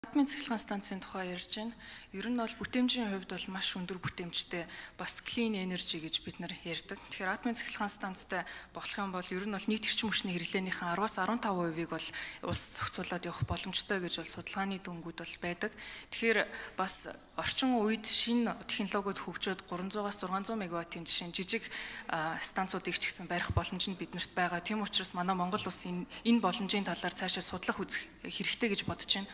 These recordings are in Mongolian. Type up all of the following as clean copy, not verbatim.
Атомын цахилгаан станцын тухай ярьж байна. Ер нь бол бүтээмжийн хувьд бол маш өндөр бүтээмжтэй бас clean energy гэж бид нар ярьдаг. Тэгэхээр атомын цахилгаан станцтай болох юм бол ер нь бол нийт эрчим хүчний хэрэглээнийхэн 10-аас 15%-ыг бол улс зохицуулаад явах боломжтой гэж бол судалгааны дүнгууд бол байдаг. Тэгэхээр бас орчин үед шинэ технологиуд хөгжөөд 300-аас 600 мегаваттын жишээ жижиг станцуудыг ч гэсэн барих боломж нь биднэрт байгаа. Тийм учраас манай Монгол улс энэ боломжийн талаар цаашаа судлах үзэх хэрэгтэй гэж бодож байна.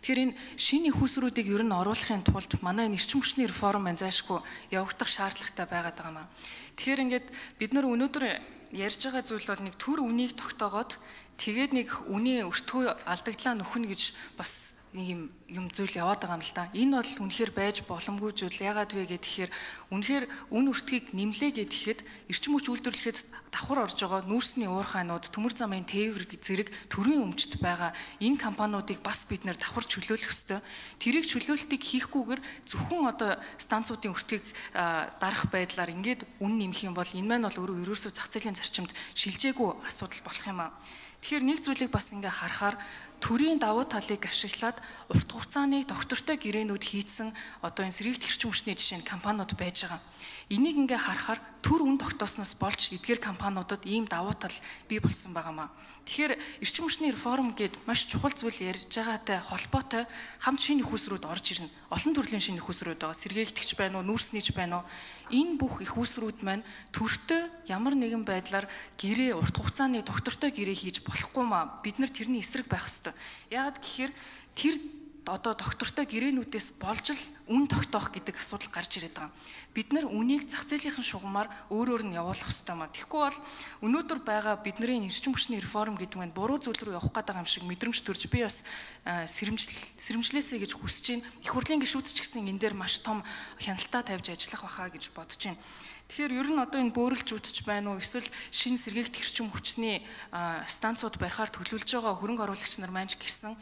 Тэгэхээр энэ шинэ их усруудыг ер нь оруулахын тулд манай энэ эрчим хүчний реформ зайлшгүй явагдах шаардлагатай байгаад байгаа маа. Тэгэхээр ингээд бид нар өнөөдөр ярьж байгаа зүйл бол нэг төр үнийг тогтоогоод тэгээд нэг үний өртгөө алдагдлаа нөхнө гэж бас нэг юм зүйл яваад байгаа юм л да. Энэ бол үнэхээр байж боломгүй зүйл. Яагаад вэ гэхээр үнэхээр үн өртгийг нэмлээ гэхэд эрчим хүч үйлдвэрлэхэд давхар орж байгаа нүүрсний уурхайнууд, төмөр замын тээвэр зэрэг төрийн өмчт байгаа энэ компаниудыг бас бид нэр давхар чөлөөлөх ёстой. Тэрийг чөлөөлтийг хийхгүйгээр зөвхөн одоо станцуудын өртгийг дарах байдлаар ингээд үн нэмэх юм бол энэ маань бол өөрөө ерөөсөө зах зээлийн зарчимд шилжээгүй асуудал болох юм аа. Тэгэхээр нэг зүйлийг бас ингээ харахаар төрийн давуу талыг ашиглаад урт хугацааны доктортой гэрээнүүд хийцэн одоо энэ сэргийгт эрчим хүчний жишээ нь компаниуд байж байгаа. Энийг ингээ харахаар төр үн тогтоосноос болж эдгээр компаниудад ийм давуу тал бий болсон байгаамаа. Тэгэхээр эрчим хүчний реформ гээд маш чухал зүйл ярьж байгаатай холбоотой хамт шинэ их усрууд орж ирнэ. Олон төрлийн шинэ их усрууд байгаа. Сэргээгтч байна уу, нүүрснийч байна уу? Энэ бүх их усрууд маань төртөө ямар нэгэн байдлаар гэрээ урт хугацааны доктортой гэрээ хийж болохгүй маа. Бид нар тэрний эсрэг байх ёстой. Яагаад гэхээр тэр одоо доктортой гэрээнүүдээс болж л үн тогтоох гэдэг асуудал гарч ирээд байгаа. Бид нар үнийг зах зээлийнхэн шугамаар өөрөөр нь явуулах ёстой маа. Тэгэхгүй бол өнөөдөр байгаа бидний эрчим хүчний реформ гэдэг нь буруу зүйл рүү явах гэдэг юм шиг мэдрэмж төрж би бас сэрэмжлээсэй гэж хүсэж байна. Их хурлын гишүүдч гэсэн энэ дээр маш том хяналтаа тавьж ажиллах байхаа гэж бодож байна. Тэгэхээр ер нь одоо энэ бөөрөлжүүдч байна уу эсвэл шинэ сэргээгт эрчим хүчний станцууд барихаар төлөвлөж байгаа хөрөнгө оруулагч нар маань ч гэсэн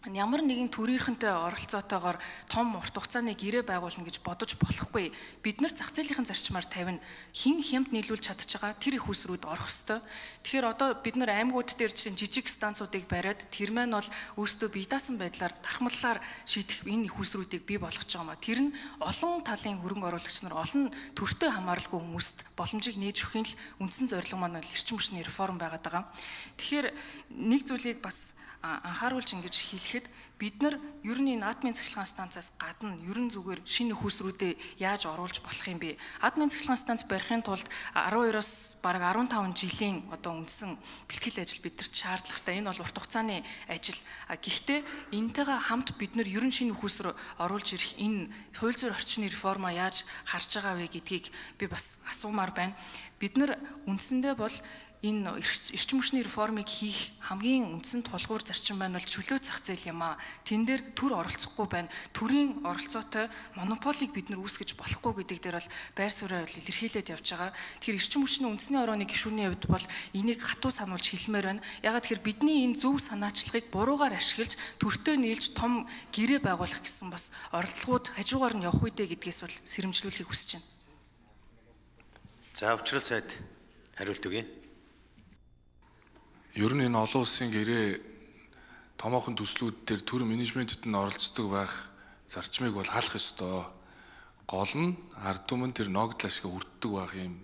ямар нэгэн төрийнхэнтэй оролцоотойгоор том урт хугацааны гэрээ байгуулна гэж бодож болохгүй. Бид нар зах зээлийнхэн зарчмаар тавина. Хин хямд нийлүүлж чадж байгаа тэр их усрууд орох ёстой. Тэгэхээр одоо бид нар аймагуд дээр жижиг станцуудыг бариад тэр маань бол өөрсдөө бие даасан байдлаар дархмаллаар шийдэх энэ их усруудыг бий болгож байгаа маа. Тэр нь олон талын хөрөнгө оруулагч нар олон төртөө хамааралгүй хүмүүст боломжийг нээж өгөхийн л үндсэн зорилго маань бол эрчим хүчний реформ байгаад байгаа. Тэгэхээр нэг зүйлийг бас анхааруулж ингэж хэлэхэд бид нар ер нь энэ атомын цахилгаан станцаас гадна ер нь зүгээр шинэ их усруудыг яаж оруулж болох юм бэ? Атомын цахилгаан станц барихын тулд 12-оос бараг 15 жилийн одоо үндсэн бэлтгэл ажил бидэрт шаардлагатай. Энэ бол урт хугацааны ажил. Гэхдээ энэтэйгээ хамт бид нар ер нь шинэ их усруу оруулж ирэх энэ хууль зүйн орчны реформа яаж харж байгаа вэ гэдгийг би бас асуумаар байна. Бид нар үндсэндээ бол энэ эрчим хүчний реформыг хийх хамгийн үндсэн тулгуур зарчим байна бол чөлөө зах зээл юм аа. Тэн дээр төр оролцохгүй байна. Төрийн оролцоотой монополийг бид нар үүсгэж болохгүй гэдэг дээр бол байр суурь илэрхийлээд явж байгаа. Тэгэхээр эрчим хүчний үндэсний орооны гишүүний хувьд бол энийг хатуу сануулж хэлмээр байна. Ягаад гэхээр бидний энэ зөв санаачлагыг буруугаар ашиглаж төртөө нийлж том гэрээ байгуулах гэсэн бас оролдлогууд хажуугаар нь явах үедээ гэдгээс бол сэрэмжлүүлэхийг хүсэж байна. За учрал сайд хариулт өгье. Ер нь энэ олон улсын гэрээ томоохон төслүүд дээр төр менежментэд нь оролцдог байх зарчмыг бол хаалах ёстой. Гол нь ард түмэн тэр ногдол ашиг хүртдэг байх юм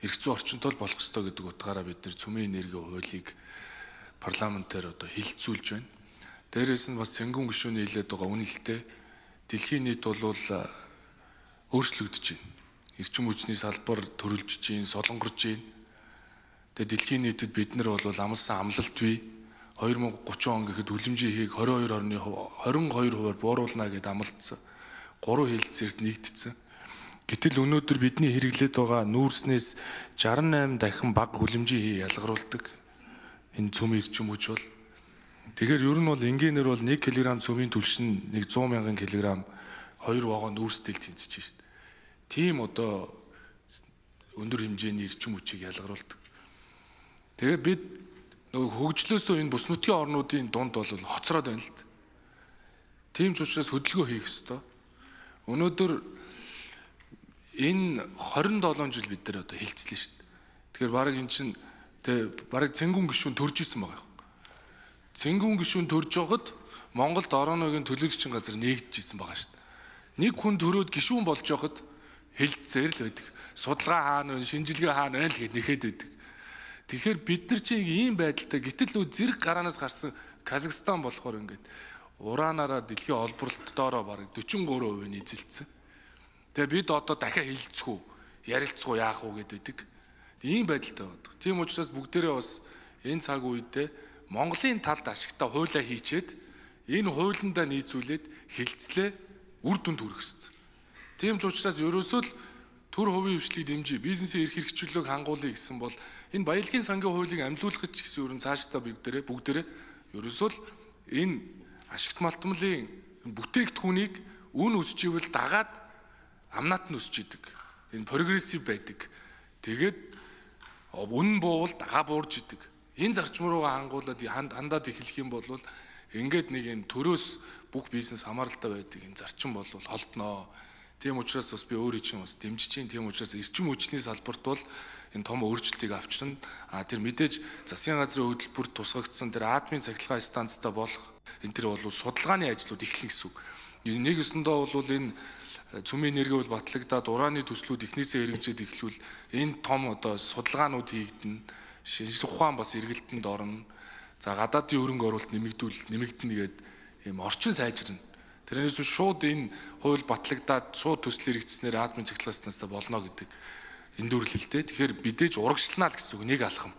эрх зүйн орчинтой болох ёстой гэдэг утгаараа бид нар цөмийн энергийн хуулийг парламентээр одоо хилцүүлж байна. Дээрээс нь бас цэнгүүн гишүүний хэлээд байгаа үнэлэлтэй дэлхийн нийт бол өөрчлөгдөж байна. Эрчим хүчний салбар төрөлжж байна, солонгорж байна. Тэгээ дэлхийн нийтэд бид нар бол амлсан амлалт бий 2030 он гэхэд хүлэмжийн хийг 22%-аар бууруулна гэдээ амлалтсан. 3 хэлэлцээрт нэгдсэн. Гэтэл өнөөдөр бидний хэрэглээд байгаа нүүрснээс 68 дахин бага хүлэмжийн хий ялгаруулдаг. Энэ цөмийн эрчим хүч бол тэгэхээр ер нь бол энгийнээр бол 1 кг цөмийн түлшин 100 мянган кг 2 вагон нүүрсдэл тэнцэж шít. Тийм одоо өндөр хэмжээний эрчим хүчийг ялгаруулдаг. Тэгээ бид нөгөө хөгжлөөсөө энэ бус нутгийн орнуудын дунд бол хоцроод байна л д. Тийм ч учраас хөдөлгөөн хийх ёстой. Өнөөдөр энэ 27 жил бид нар одоо хилцлээ шүү дээ. Тэгэхээр баг эн чинь тэг баг цэнгүүн гишүүн төрж исэн байгаа юм. Цэнгүүн гишүүн төрж байхад Монголд орон нутгийн төлөөлөгчийн газар нэгдэжсэн байгаа шүү дээ. Нэг хүн төрөөд гишүүн болж явахад хэлцээр л байдаг. Судалгаа хаана вэ, шинжилгээ хаана вэ гэд нэхэд байдаг. Тэгэхээр бид нар чинь ийм байдалтай гэтэл нөө зэрэг гараанаас гарсан Казахстан болохоор ингээд ураанаараа дэлхийн олборлолт доороо бараг 43% эзэлсэн. Тэгээ бид одоо дахиад хилцэх үү, ярилцах уу, яах уу гэдэг. Ийм байдалтай байдаг. Тийм учраас бүгдээрээ бас энэ цаг үедээ Монголын талд ашигтай хуулиа хийчээд энэ хуулиндаа нийцүүлээд хилцлээ үр дүнд хүрэх ёстой. Тийм ч учраас ерөөсөө л төр хувийн хвшлийг дэмжиж, бизнесийн эрх хэрэгжүүлэлийг хангуулъя гэсэн бол энэ баялагын сангийн хуулийг амьлуулах гэсэн ерөн цаашдаа бүгдээрээ ерөөсөө л энэ ашигт малтмлын бүтээгдэхүүнийг үн өсчихвэл дагаад амнат нь өсч идэг. Энэ прогрессив байдаг. Тэгээд үнэн буувал дагаа буурж идэг. Энэ зарчим руугаа хангуулад хандаад эхлэх юм бол ингээд нэг энэ төрөөс бүх бизнес хамааралтай байдаг энэ зарчим бол холдноо. Тийм учраас бас би өөрөө чинь бас дэмжиж чинь. Тийм учраас эрчим хүчний салбарт бол энэ том өөрчлөлтийг авчирна. Тэр мэдээж засгийн газрын хөтөлбөрт тусгагдсан тэр атомын цахилгаан станцтай болох энэ тэр бол судалгааны ажлууд эхлэх гэсэн үг. Нэг өсөндөө бол энэ цөмийн энерги бол батлагдаад ураны төслүүд эхнээсээ хэрэгжээд эхлүүл энэ том одоо судалгаанууд хийгдэн, шинжлэх ухаан бас эргэлтэнд орно. За гадаадын хөрөнгө оруулалт нэмэгдэнэ гэдэг ийм орчин сайжирна. Тэрнээс шууд энэ хууль батлагдаад шууд төсөл хэрэгжснээр атомын цахилгаан станцтай болно гэдэг эндүрлэлтэй. Тэгэхээр бидээж урагшлнаа л гэсэн үг нэг алхам.